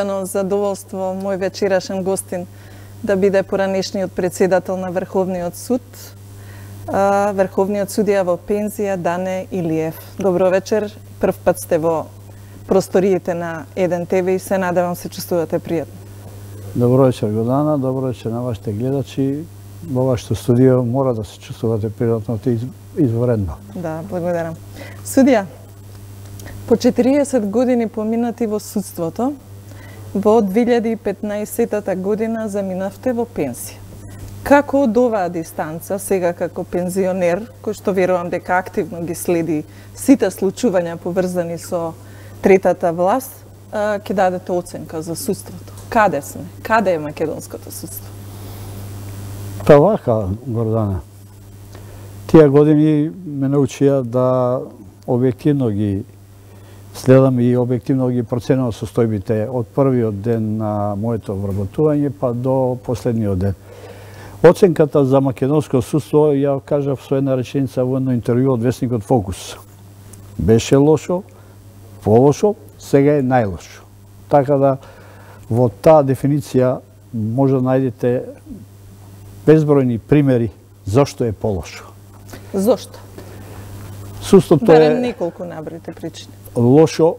Задоволство мој вечерашен гостин да биде поранешниот председател на Врховниот суд, врховниот судија во пензија Дане Илиев. Добро вечер, прв пат сте во просториите на Еден ТВ и се надевам се чувствувате пријатно. Добро вечер, Годана, добро вечер на вашите гледачи. Во вашето студио мора да се чувствувате пријатно и изворедно. Да, благодарам. Судија, по 40 години поминати во судството, во 2015 година заминавте во пенсија. Како од оваа дистанца, сега како пензионер, кој што верувам дека активно ги следи сите случувања поврзани со третата власт, ќе дадете оценка за судството? Каде сме? Каде е македонското судство? Па вака, Гордана. Тие години ме научија да објективно ги следам и објективно ги проценувам состојбите од првиот ден на моето вработување па до последниот ден. Оценката за македонско судство ја кажав со една реченица во едно интервју од весникот Фокус. Беше лошо, полошо, сега е најлошо. Така да во таа дефиниција може да најдете безбројни примери зошто е полошо. Зошто? Судството барем неколку набројте причини. Лошо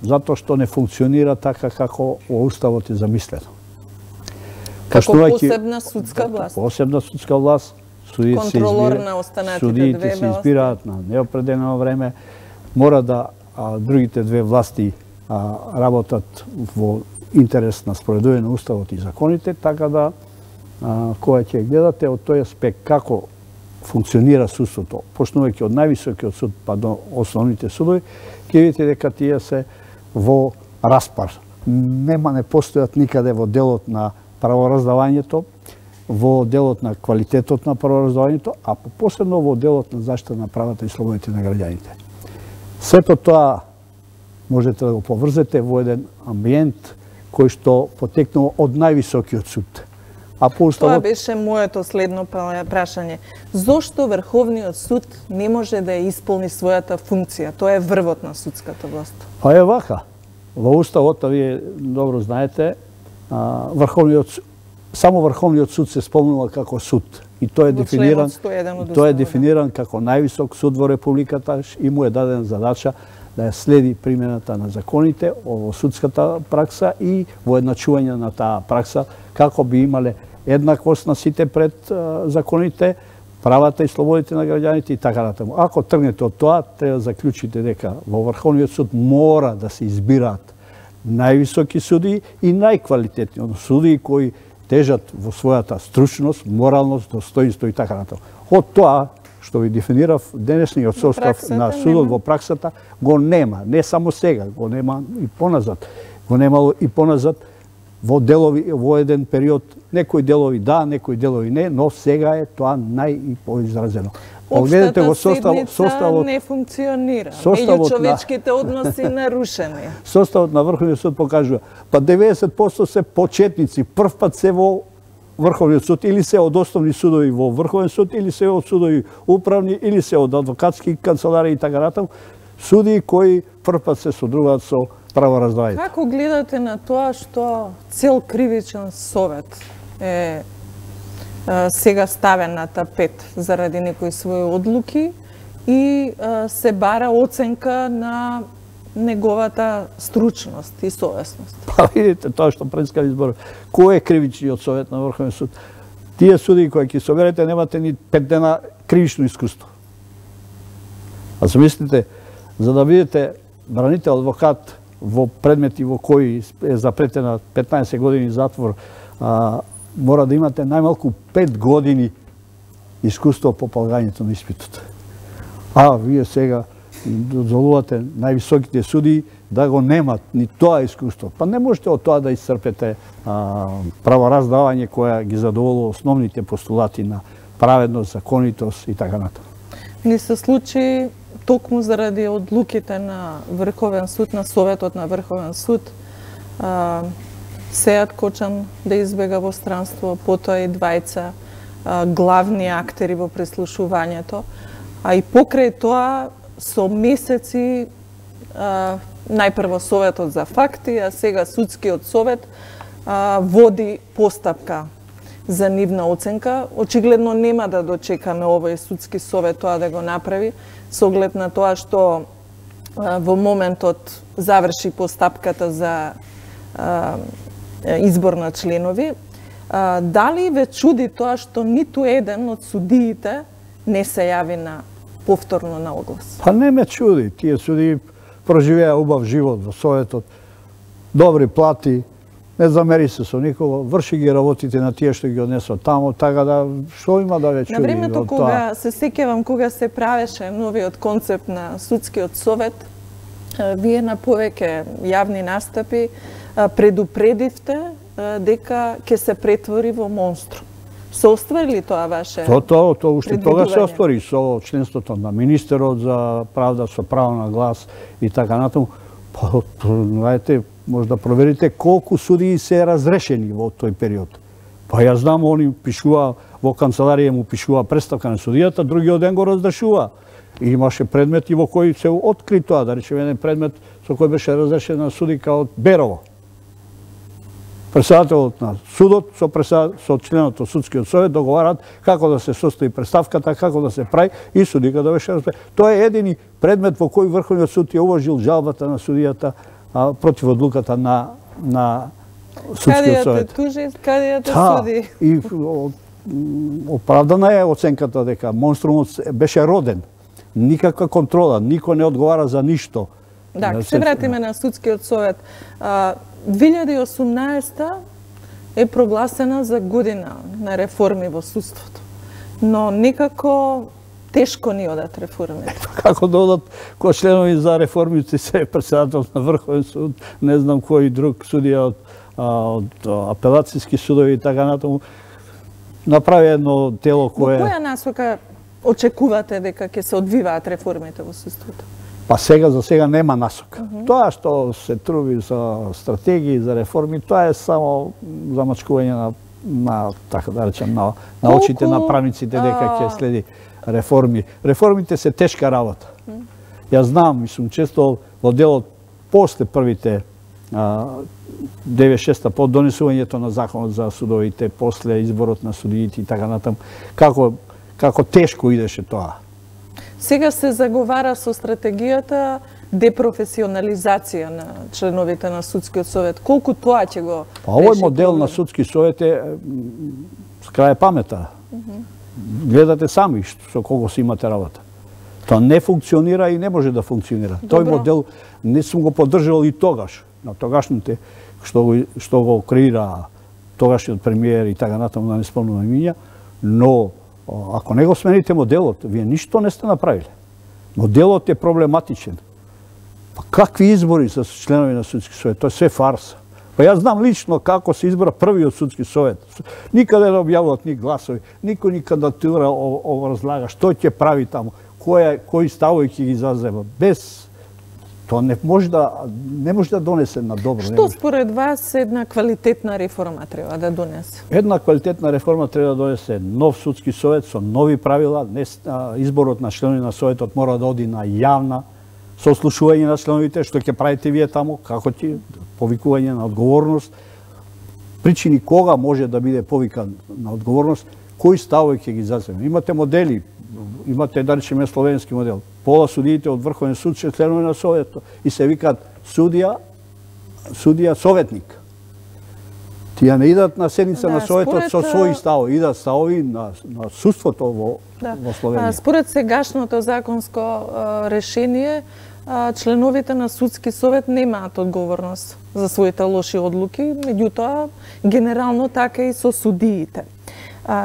затоа што не функционира така како во уставот е замислено. Како посебна судска власт. Посебна судска власт, судиите се избираат на неопределено време, мора да другите две власти работат во интерес на спроведување на уставот и законите, така да кога ќе гледате од тој аспект како функционира судството, почнувајќи од највисокиот суд па до основните судови, ќе видите дека тие се во распар. Не постојат никаде во делот на правораздавањето, во делот на квалитетот на правораздавањето, а посебно во делот на заштита на правата и слободите на граѓаните. Сето тоа можете да го поврзете во еден амбиент кој што потекнува од највисокиот суд. Тоа беше моето следно прашање. Зошто Врховниот суд не може да ја исполни својата функција? Тоа е врвот на судската власт. Па е вака. Во уставот, вие добро знаете, само Врховниот суд се спомнува како суд. И тој е дефиниран како највисок суд во Републиката и му е дадена задача да ја следи примената на законите во судската пракса и во едначување на таа пракса, како би имале еднаквост на сите пред законите, правата и слободите на граѓаните и така натаму. Ако тргнете од тоа, треба да заклучите дека во Врховниот суд мора да се избираат највисоки судии и најквалитетни судии кои тежат во својата стручност, моралност, достоинство и така натаму. Од тоа што ви дефинирав, денешниот состав на судот во праксата го нема, не само сега, го нема и поназад. Го немало и поназад во делови, во еден период, некои делови да, некои делови не, но сега е тоа најпоизразено. Општата седница не функционира. Меѓучовечките односи нарушени. Составот на Врховниот суд покажува, па 90% се почетници, прв пат се во Врховниот суд, или се од основни судови во Врховен суд, или се од судови управни, или се од адвокатски канцелари и така натаму, судии кои прв пат се содружуваат со правораздавањето. Како гледате на тоа што цел кривичен совет е сега ставен на тапет заради некои своји одлуки и се бара оценка на неговата стручност и совесност? Па видите тоа што предскави избор. Кој е кривичниот совет на Врховен суд? Тие судии кои ќе соберете немате ни 5 дена кривично искуство. А замислите, за да бидете бранител адвокат во предмети во кои е запретена 15 години затвор, мора да имате најмалку 5 години искуство по полагањето на испитот. Вие сега дозволувате највисоките судии да го немат ни тоа искуство. Па не можете од тоа да исцрпете правораздавање која ги задоволува основните постулати на праведност, законитост и така натаму. Ни се случи токму заради одлуките на Врховен суд, на Советот на Врховен суд, Сејат Кочан да избега во странство, потоа и двајца главни актери во преслушувањето, а и покрај тоа со месеци најпрво Советот за факти, а сега Судскиот совет води постапка за нивна оценка. Очигледно нема да дочекаме овој Судски совет тоа да го направи, со оглед на тоа што во моментот заврши постапката за избор на членови. Дали ве чуди тоа што ниту еден од судиите не се јави на повторно на оглас? Па не ме чуди. Тие судии проживеа убав живот во Советот, добри плати, не замери се со никого, врши ги работите на тие што ги однесо тамо, така да што има да ве чуди? На времето кога се сеќавам кога се правеше новиот концепт на Судскиот совет, вие на повеќе јавни настапи предупредивте дека ќе се претвори во монструм. Се оствари ли тоа ваше Тоа уште тога се оствари со членството на министерот за правда, со право на глас и така натаму. Знаете, може да проверите колку судии се разрешени во тој период. Па ја знам, они пишува во канцеларија, му пишува представка на судијата, другиот ден го разрешува. И имаше предмети во кои се откри тоа, да речеме еден предмет со кој беше разрешена судика од Берово. Председателот на судот со членот од Судскиот совет договараат како да се состои представката, како да се прави и судиката беше разрешена. Тоа е едини предмет во кој Врховниот суд ја уважил жалбата на судијата против одлуката на Судскиот совет. Каде ја те суди? И оправдана е оценката дека монструмот беше роден. Никаква контрола, никој не одговара за ништо. Да, ќе се вратиме на Судскиот совет. 2018 е прогласена за година на реформи во судството. Но некако тешко ни одат реформите. Како да одат кои членови за реформите се председател на Врховен суд, не знам кој друг судија од апелацијски судови и така натаму, направи едно тело кое... Во која насока очекувате дека ќе се одвиваат реформите во судството? Па за сега нема насока. Тоа што се труби за стратегии, за реформи, тоа е само замачкување на така да речем, на очите на правниците дека ќе следи реформи. Реформите се тешка работа. Ја знам и сум често во делот после првите 96-та по донесувањето на законот за судовите, после изборот на судиите и така натаму, како тешко идеше тоа. Сега се заговара со стратегијата депрофесионализација на членовите на Судскиот совет. Колку тоа ќе го реши? Па овој модел на Судски совет е с крај памета. Гледате сами со кого си имате работа. Тоа не функционира и не може да функционира. Тој модел не сум го поддржал и тогаш, на тогашните што го креира тогашниот премиер и така натаму, да не спомнувам имиња, но ако не го смените моделот, вие ништо не сте направиле. Моделот е проблематичен. Па какви избори за членови на Судски совет? Тоа е све фарса. Па јас знам лично како се избра првиот Судски совет. Никаде не објавуват ни гласови, никој ни кандидатура разлага што ќе прави таму, кои ставови ќе ги зазема. Без тоа не може да донесе на добро. Што според вас една квалитетна реформа треба да донесе? Една квалитетна реформа треба да донесе нов Судски совет со нови правила. Изборот на членови на советот мора да оди на јавна сослушување на членовите, што ќе правите вие таму, како ќе повикување на одговорност, причини кога може да биде повикан на одговорност, кои ставови ќе ги заземе. Имате модели, имате, да речеме, словенски модел. Пола судиите од Врховен суд се членови на советот и се викаат судија советник. Тие не идат на седница на советот со своји ставови, идат ставови на судството во Словенија. Според сегашното законско решение, членовите на Судски совет немаат одговорност за своите лоши одлуки, меѓутоа генерално така и со судиите.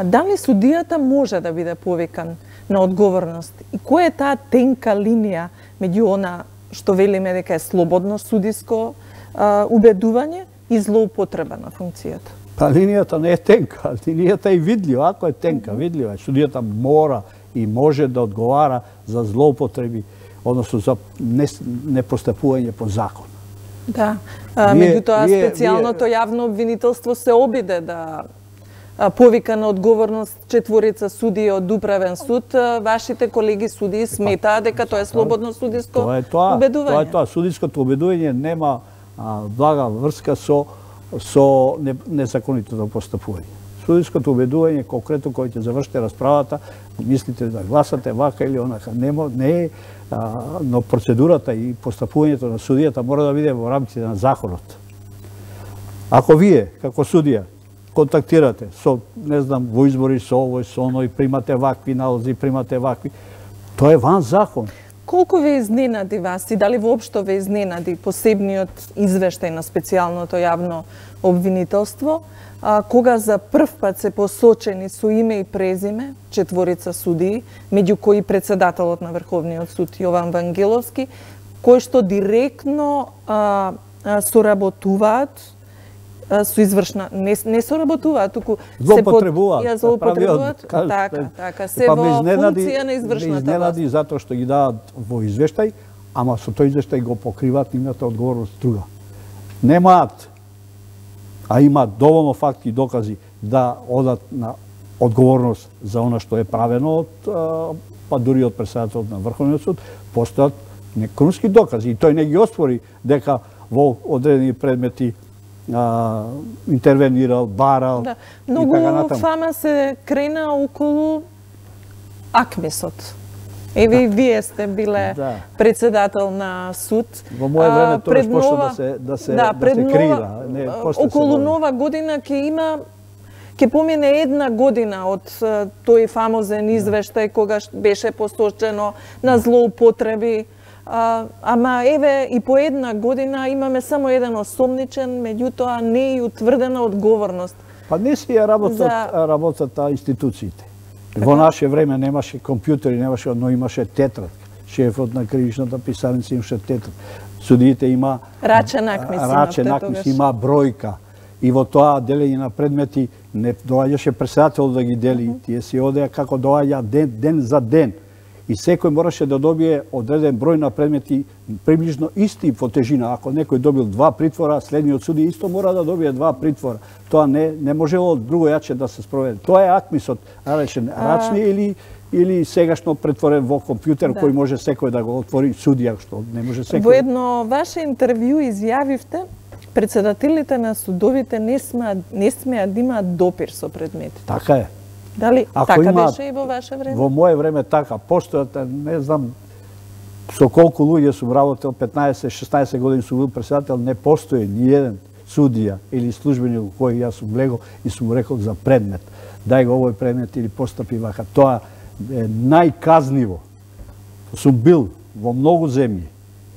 Дали судијата може да биде повикан на одговорност? И која е таа тенка линија меѓу она што велиме дека е слободно судиско убедување и злоупотреба на функцијата? Па линијата не е тенка, линијата е видлива. Ако е тенка, видлива, судијата мора и може да одговара за злоупотреби, односно за непостапување по закон. Да, меѓутоа специјалното јавно обвинителство се обиде да повика на одговорност четворица судии од управен суд, вашите колеги судии сметаат дека тоа е слободно судиско убедување? Тоа е тоа. Судиското убедување нема блага врска со незаконитото постапување. Судиското убедување, конкретно кој ќе завршите расправата, мислите да гласате вака или онака, не е, но процедурата и постапувањето на судијата мора да биде во рамките на законот. Ако вие, како судија, контактирате со, не знам, во избори со овој, со оној, примате вакви налози, примате вакви, тоа е ван закон. Колку ве изненади вас и дали воопшто ве изненади посебниот извештај на специјалното јавно обвинителство, кога за прв пат се посочени со име и презиме четворица судии, меѓу кои председателот на Врховниот суд Јован Вангеловски, кои што директно соработуваат со извршна, не соработуваат, туку злоупотребуваат, така, се во функција на извршната власт. Изненади затоа што ги дават во извештај, ама со тој извештај го покриваат нивната одговорност друга. Немаат, а имаат доволно факти и докази да одат на одговорност за она што е правено па дури од председателот на Врховниот суд, постојат некрунски докази и тој не ги оспори дека во одредени предмети интервенирал, барал и така натаму. Фама се крена околу Акмисот. Еве и вие сте биле председател на суд. Во моје време тоа почна да се крира. Околу Нова година ќе помине една година од тој фамозен извештај кога беше посочено на злоупотреби. Ама еве и по една година имаме само еден осомничен, меѓутоа не и утврдена одговорност. Па не си ја работат институциите. Во наше време немаше компјутери, но имаше тетрадка. Шефот на кривичната писарница имаше тетрадка. Судиите има рачен акмис, има бројка. И во тоа делење на предмети не доаѓаше председател да ги дели. Тие си одеа како доаѓа ден за ден. И секој мораше да добие одреден број на предмети приближно исти по тежина. Ако некој добил 2 притвора, следниот суди исто мора да добие 2 притвора. Тоа не можело друго јаче да се спроведе. Тоа е акмисот, речен рачни или сегашно претворен во компјутер кој може секој да го отвори, судија што не може секој. Во едно ваше интервју изјавивте председателите на судовите не смеат да имаат допир со предметите. Така е. Дали така беше и во ваше време? Во моје време така. Постојат, не знам со колку луѓе сум работел, 15-16 години сум бил председател, не постои ни еден судија или службеник кој јас сум легол и сум рекол за предмет. Дај го овој предмет или постапи вака. Тоа е најказниво. Сум бил во многу земји.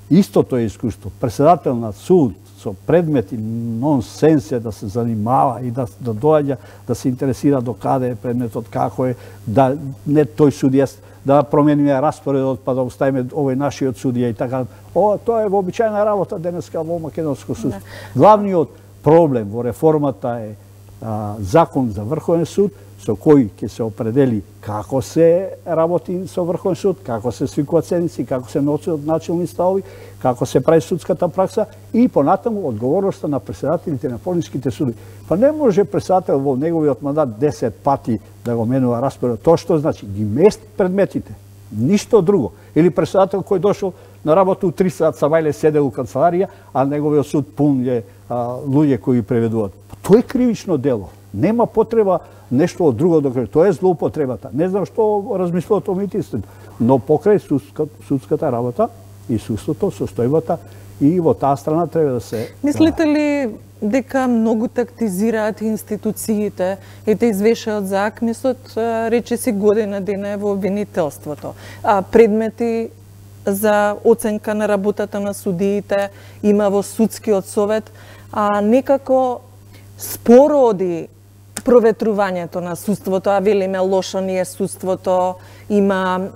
Истото е искуство. Председател на суд со предмети нонсенс е да се занимава и да доаѓа, да се интересира до каде е предметот, како е, да не тој судија, да промениме распоредот, па да оставиме овој нашиот судија и така. Тоа е вообичајна работа денеска во македонско судство. Главниот проблем во реформата е закон за Врховен суд, со кој ќе се определи како се работи со Врховен суд, како се свикуваат седници, како се носат начални ставови, како се прави судската пракса и понатаму одговорноста на председателите на полинските суди. Па не може председател во неговиот мандат 10 пати да го менува распоред. Тоа што значи? Ги мести предметите. Ништо друго. Или председател кој дошол на работа у 3 сат сабајле седел у канцеларија, а неговиот суд пун е луѓе кои преведуваат. Тоа е кривично дело. Нема потреба нешто од друго да кажа. Тоа е злоупотребата. Не знам што размислуват омитистите, но покрај судската работа и судството, состојбата и во таа страна треба да се... Мислите ли дека многу тактизираат институциите и те извешаат за Акмисот, речиси година дена во обвинителството? Предмети за оценка на работата на судиите има во судскиот совет, некако спороди проветрувањето на судството, а велиме лошо ни е судството, има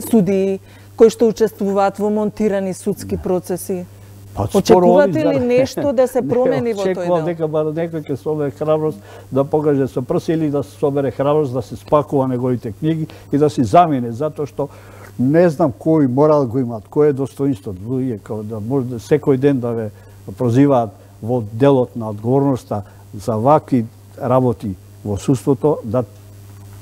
судии кои што учествуваат во монтирани судски процеси. Очекувате ли нешто да се промени во тој дел? Очекувам дека бар некој ќе собере храброст да покаже со прси или да собере храброст да се спакува неговите книги и да си замине, затоа што не знам кој морал го имаат, кој е достоинството, луѓе да може секој ден да ве прозиваат во делот на одговорноста за вакви работи во судството да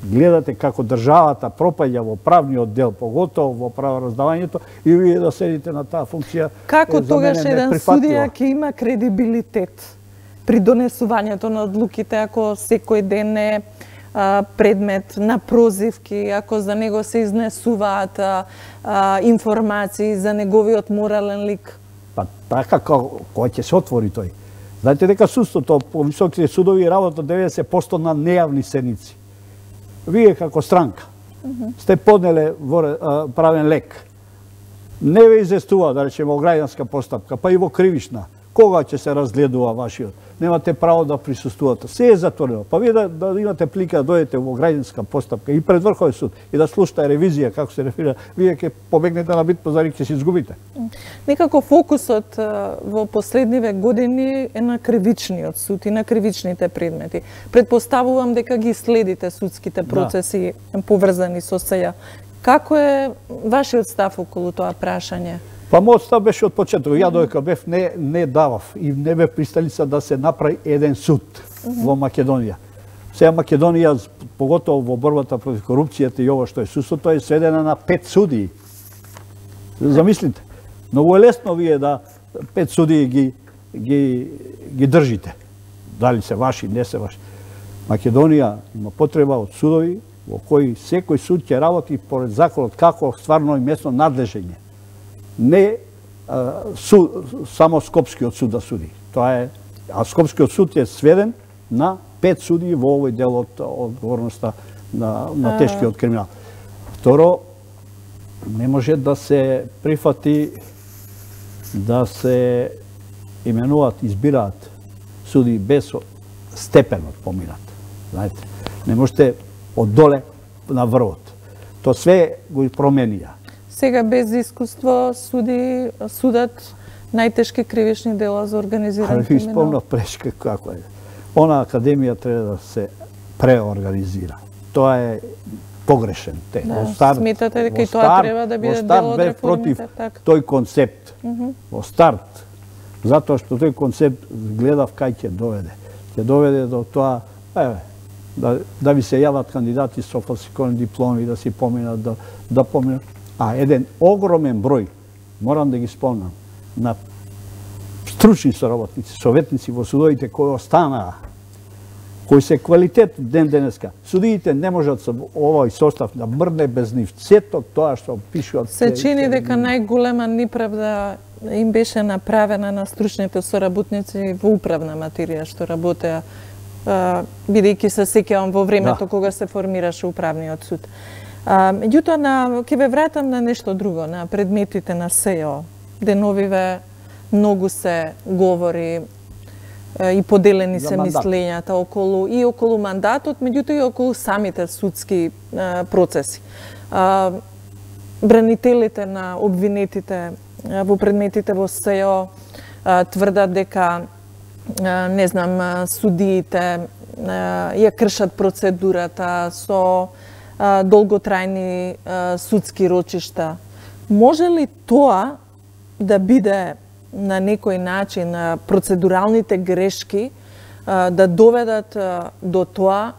гледате како државата пропаѓа во правниот дел, поготово во правораздавањето, и вие да седите на таа функција. Како тогаш еден судија ќе има кредибилитет при донесувањето на одлуките, ако секој ден е предмет на прозивки, ако за него се изнесуваат информации за неговиот морален лик? Па така кога ќе се отвори тој. Знаете дека судството по високите судови работа 90% на нејавни седници. Вие како странка сте поднеле правен лек. Не ве известува, да речеме, во граѓанска постапка, па и во кривична. Кога ќе се разгледува вашиот? Немате право да присуствувате. Се е затворено. Па вие да имате плика да дојдете во граѓанска постапка и пред Врховен суд и да слушате ревизија како се реферира, вие ќе побегнете на бит пазари, ќе се изгубите. Некако фокусот во последниве години е на кривичниот суд и на кривичните предмети. Предпоставувам дека ги следите судските процеси поврзани со сеја. Како е вашиот став околу тоа прашање? Па мојот став беше од почеток. Ја додека бев не давав и не бев присталица да се направи еден суд во Македонија. Сега Македонија, поготово во борбата против корупцијата и ова што е судството, е сведена на 5 судии. Замислите. Многу е лесно вие да 5 судии ги држите. Дали се ваши, не се ваши. Македонија има потреба од судови во кои секој суд ќе работи поред законот како стварно и местно надлежење. Не само Скопскиот суд да суди. Тоа е, а Скопскиот суд е сведен на 5 судии во овој дел од одговорноста на тешкиот криминал. Второ, не може да се прифати да се именуваат, избираат суди без степенот поминат. Знаете, не можете од доле на врвот. Тоа све го променија. Сега без искуство судат најтешки кривични дела за организиран криминал. Ви спомнав прешка како е. Она академија треба да се преорганизира. Тоа е погрешен текст. Сметате дека и тоа треба да биде дел од реформите? Против тој концепт. Во старт, затоа што тој концепт гледав кај ќе доведе. Ќе доведе до тоа, да ви се јават кандидати со фалсификовани дипломи, да си поминат, да поминат. А еден огромен број, морам да ги спомнам, на стручни соработници, советници во судовите кои останаа, кои се квалитет ден денеска. Судиите не можат со овој состав да мрне без нив. Сето тоа што пишуваат. Се чини дека најголема неправда им беше направена на стручните соработници во управна материја што работеа, бидејќи се сеќавам во времето кога се формираше управниот суд. Меѓутоа, ќе ве вратам на нешто друго, на предметите на СЕО. Деновиве многу се говори и поделени се мислењата околу мандатот, меѓутоа и околу самите судски процеси. Бранителите на обвинетите во предметите во СЕО тврдат дека судиите ја кршат процедурата со долготрајни судски рочишта. Може ли тоа да биде на некој начин процедуралните грешки да доведат до тоа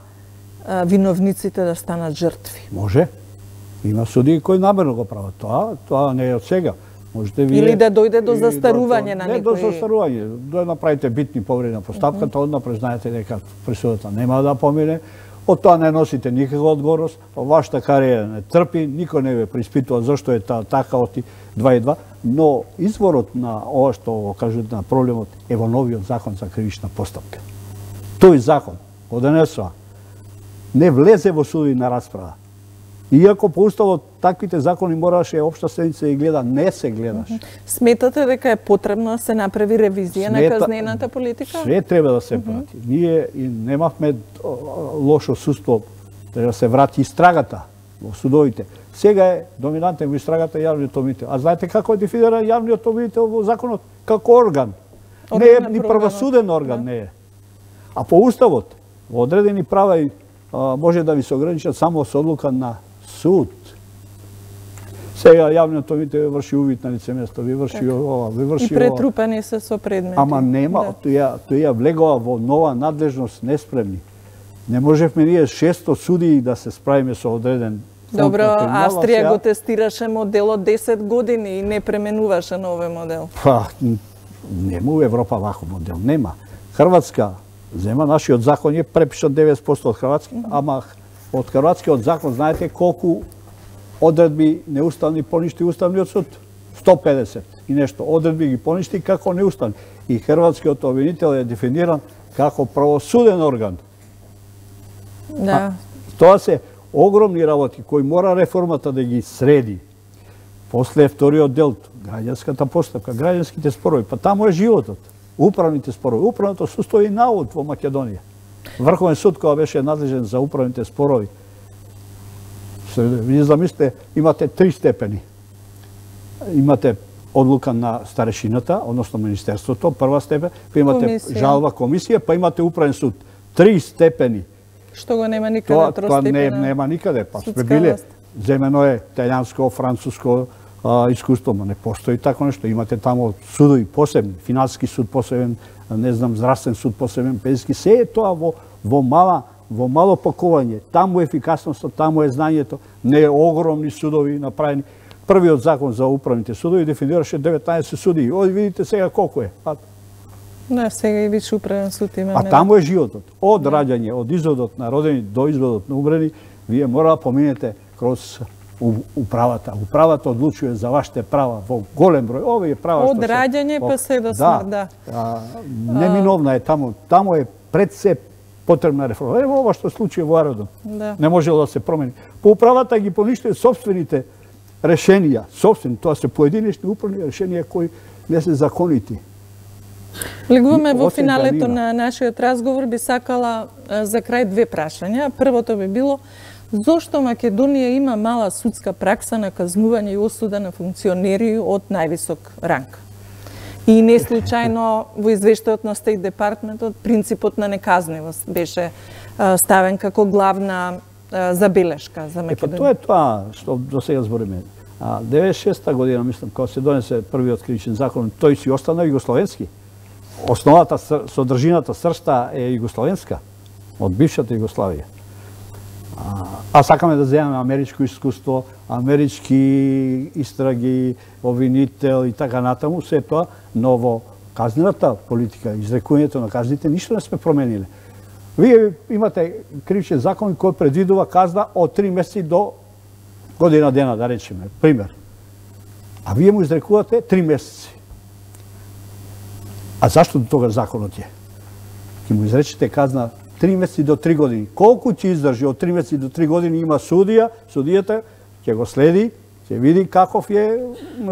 виновниците да станат жртви? Може. Има судии кои намерно го прават тоа не е од сега. Или да дојде до застарување на некој... Не до застарување, да направите битни повреди на постапката, однапред знаете дека присудата нема да помине, од тоа не носите никаква одговорност, вашата кариера не трпи, никој не ве преиспитува зашто е така оти 2:2, но изворот на ова што го кажат на проблемот е во новиот закон за кривична постапка. Тој закон го донесува, не влезе во судина расправа. Иако по уставот таквите закони мораше општа седница и гледа, не се гледаше. Сметате дека е потребно да се направи ревизија на казнената политика? Све треба да се прати. Ние немавме лошо судство, треба да се врати истрагата во судовите. Сега е доминантен во истрагата јавниот обвинител. А знаете како е дефиниран јавниот обвинител во законот? Како орган. Не е ни правосуден орган, не е. А по уставот, во одредени права може да ви се ограничат само со одлука на суд. Сега јавниот обвинител врши увид на лице место, ви врши ова, ви врши ова. И претрупани се со предмети. Ама нема, тој ја влегува во нова надлежност неспремни. Не можевме ние 600 судии да се справиме со одреден. Добро, Австрија го тестираше моделот 10 години и не пременуваше на овој модел. Па, нема у Европа ваков модел, нема. Хрватска зема, нашиот закон е препишан 90% од хрватски, ама од хрватскиот закон знаете колку одредби неуставни поништи Уставниот суд? 150 и нешто. Одредби ги поништи како неуставни. И хрватскиот обвинител е дефиниран како правосуден орган. Да. Тоа се огромни работи кои мора реформата да ги среди. После вториот дел, граѓанската постапка, граѓанските спорови, па таму е животот. Управните спорови. Управното судство е наод во Македонија. Врховен суд која беше надлежен за управните спорови. Вие замислите, имате 3 степени. Имате одлука на старешината, односно Министерството, прва степен, па имате жалба комисија, па имате управен суд. 3 степени. Што го нема никаде тростепена? Тоа нема никаде. Па сме биле, земено е италијанско, француско искуство, но не постои тако нешто. Имате таму судови посебни, финансиски суд посебен, не знам, здравствен суд посебен, пензиски, се е тоа во мало пакување. Таму е ефикасноста, таму е знаењето, не е огромни судови направени. Првиот закон за управните судови дефинираше 19 судии. Оди видите сега колку е. Да, сега и више управен суд имаме. А таму е животот. Од раѓање, од изводот на родени до изводот на умрени, вие мора да поминете кроз управата. Управата одлучува за вашите права во голем број. Овие права од раѓање па се до смрт, да. Неминовна е таму. Таму е пред се потребна реформа. Ево ова што случи во Ародон. Да. Не можело да се промени. По управата ги поништува сопствените решенија, собствени, тоа се поединечни управни решенија кои не се законити. Влегуваме во финалето на нашиот разговор, би сакала за крај 2 прашања. Првото би било, зошто Македонија има мала судска пракса на казнување и осуда на функционери од највисок ранг? И не случајно во извештајот на Стейт Департментот принципот на неказнивост беше ставен како главна забелешка за Македонија. Тоа е тоа што до сега збориме. 96-та година, мислам, кога се донесе првиот кривичен закон, тој си остана југословенски. Основата, содржината, сршта е југословенска, од бившата Југославија. А сакаме да земеме америчко искуство, амерички истраги, обвинител и така натаму, се тоа, но во казнената политика, изрекувањето на казните, ништо не сме промениле. Вие имате кривичен закон кој предвидува казна од 3 месеци до година дена, да речеме, пример. А вие му изрекувате 3 месеци. А зашто до тога законот е? Ке му изречете казна 3 месеци до 3 години. Колку ќе издржи од 3 месеци до 3 години има судија, судијата ќе го следи, ќе види каков е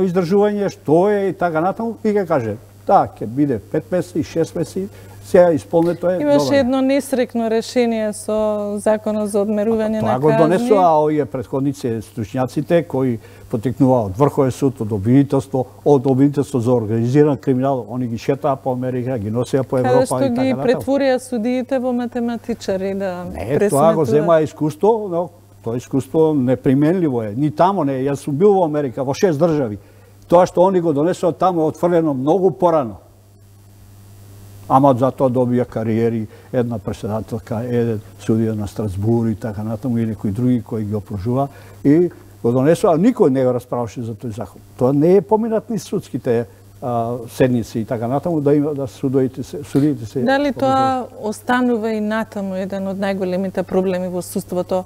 издржување, што е и така натаму и ќе каже, да, ќе биде 5 месеци, 6 месеци, сега исполнето е. Имаше едно несрекно решение со законот за одмерување на казни. Тоа го донесоа овие претходници стручњаците кои потекнува од Врховен суд, од обвинителство за организиран криминал, они ги шетаа по Америка, ги носеа по Европа и така натаму. Каде што ги претворија судиите во математичари да пресметуваат. Не, тоа го зема искуство, но тоа искуство неприменливо е. Ни тамо не, јас сум бил во Америка, во 6 држави. Тоа што они го донесоа таму е отфрлено многу порано. Ама затоа добија кариери, една претседателка, еден судија на Страсбур и така натаму и некои други кои ги опружува и го донесоа, никој не го расправаше за тој закон. Тоа не е поминат ни судските седници и така натаму да има да судиите се. Дали тоа останува и натаму еден од најголемите проблеми во судството,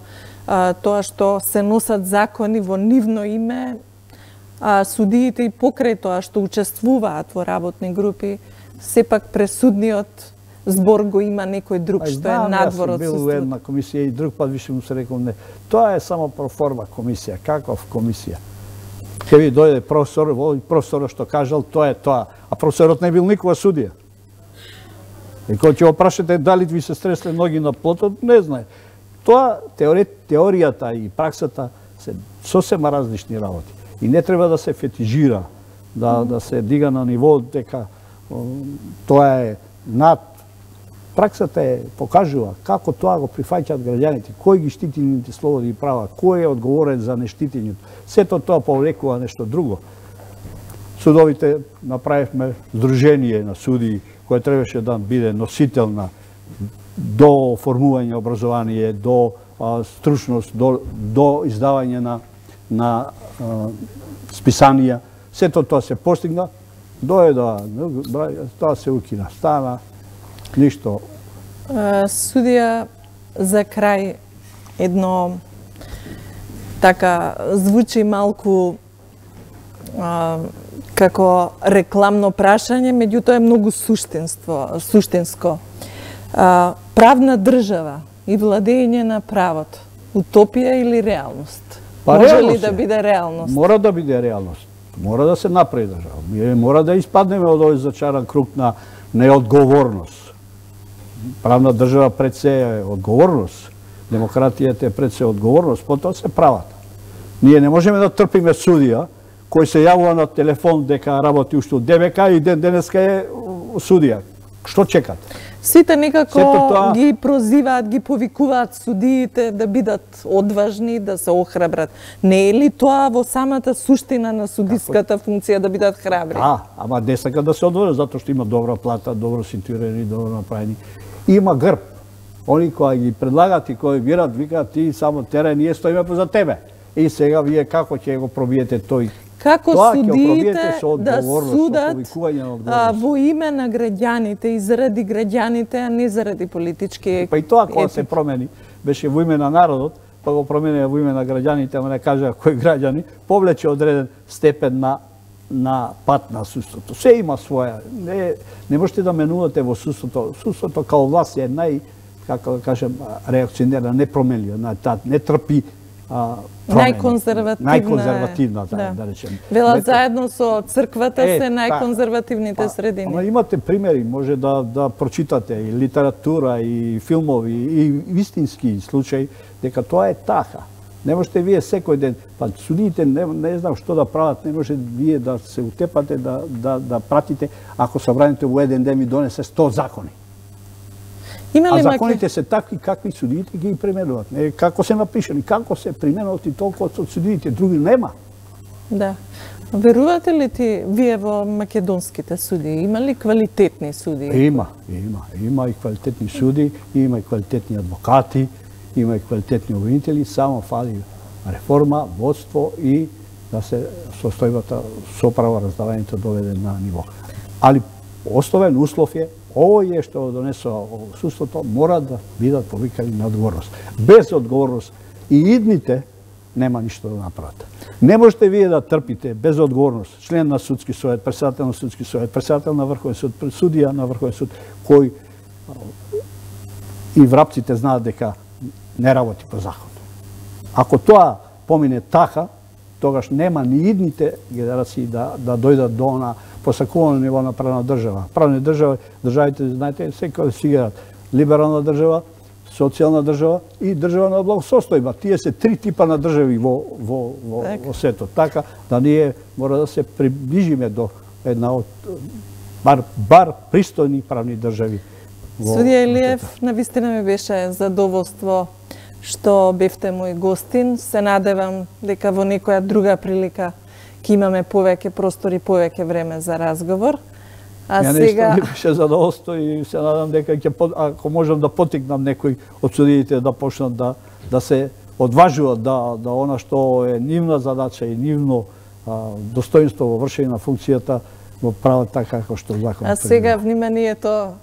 тоа што се носат закони во нивно име, судиите и покрај тоа што учествуваат во работни групи, сепак пресудниот збор го има некој друг што е надвор од судството. Јас сум бил во една комисија и друг пат више му се рекол не. Тоа е само проформа комисија. Каков комисија? Ке ви дојде професор, професорот што кажал, тоа е тоа. А професорот не бил никога судија. И кога ќе го прашате дали ви се стресле ноги на плотот, не знае. Тоа, теоријата и праксата се сосема различни работи. И не треба да се фетижира, да се дига на ниво дека тоа е над. Праксата покажува како тоа го прифаќаат граѓаните, кој ги штити нивните слободи и права, кој е одговорен за нештитењето. Сето тоа повлекува нешто друго. Судовите направивме здружение на судии кој требаше да биде носител на до формување образование, до стручност, до издавање на списанија. Сето тоа се постигна, тоа се укина, стана, ништо. Судија, за крај, едно така звучи малку како рекламно прашање, меѓутоа е многу суштинско. Правна држава и владење на правото, утопија или реалност? Може ли да биде реалност? Мора да биде реалност. Мора да се направи држава. Мора да испаднеме од овој зачаран круг на неодговорност. Правна држава пред се е одговорност. Демократијата е пред се одговорност, потоа се правата. Ние не можеме да трпиме судија кој се јавува на телефон дека работи уште од ДБК и денеска е судија. Што чекат? Сите некако ги прозиваат, ги повикуваат судиите да бидат одважни, да се охрабрат. Не е ли тоа во самата суштина на судиската функција да бидат храбри? Да, ама не сака да се одважат, затоа што има добра плата, добро ситуирани, добро направени. Има грб. Они кои ги предлагат и кои бират, викаат ти само терен, ние стоиме поза тебе. И сега вие како ќе го пробиете тој? Како судиите да судат во име на граѓаните и заради граѓаните, а не заради политички... Па и тоа кога се промени, беше во име на народот, па го промени во име на граѓаните, ама не кажа кои граѓани, повлече одреден степен на пат на судството. Се има своја. Не можете да менувате во судството. Судството као власт е како да кажем, реакционерна, непроменлива, не трпи најконзервативна, да речем. Велат заедно со црквата се најконзервативните средини. Ама имате примери, може да прочитате и литература, и филмови, и вистински случаи, дека тоа е така. Не можете вие секој ден, па судиите не знам што да прават, не може вие да се утепате, да пратите, ако собранието во еден ден ми донесе 100 закони. А законите се такви какви судиите ги применуваат. Како се напишани, како се применуваат и толку од судиите, други нема. Да. Верувате ли ти вие во македонските судии? Има ли квалитетни судии? Има и квалитетни судии, има и квалитетни адвокати, има и квалитетни обвинители, само фали реформа, водство и да се состојбата соправа раздавањето доведе на ниво. Али основен услов е овој што донесува судството мора да бидат повикани на одговорност. Без одговорност и идните нема ништо да направат. Не можете вие да трпите без одговорност член на судски совет, председател на судски совет, председател на Врховен суд, судија на Врховен суд, кој и врапците знаат дека не работи по закон. Ако тоа помине така, тогаш нема ни идните генерации да дојдат до она посакувано ниво на правна држава. Правна држава, државите, знаете, секој си герат. Либерална држава, социјална држава и држава на благосостојба. Тие се три типа на држави во светот. Така да ние мора да се приближиме до една од бар пристојни правни држави. Судија Илиев, навистина ми беше задоволство што бевте мој гостин. Се надевам дека во некоја друга прилика ќе имаме повеќе простори, повеќе време за разговор. Ја сега ми беше задоволство и се надам дека ако можам да потикнам некој од судиите да почнат да се одважуваат да она што е нивна задача и нивно достоинство во вршење на функцијата го прават така како што законот. А сега вниманието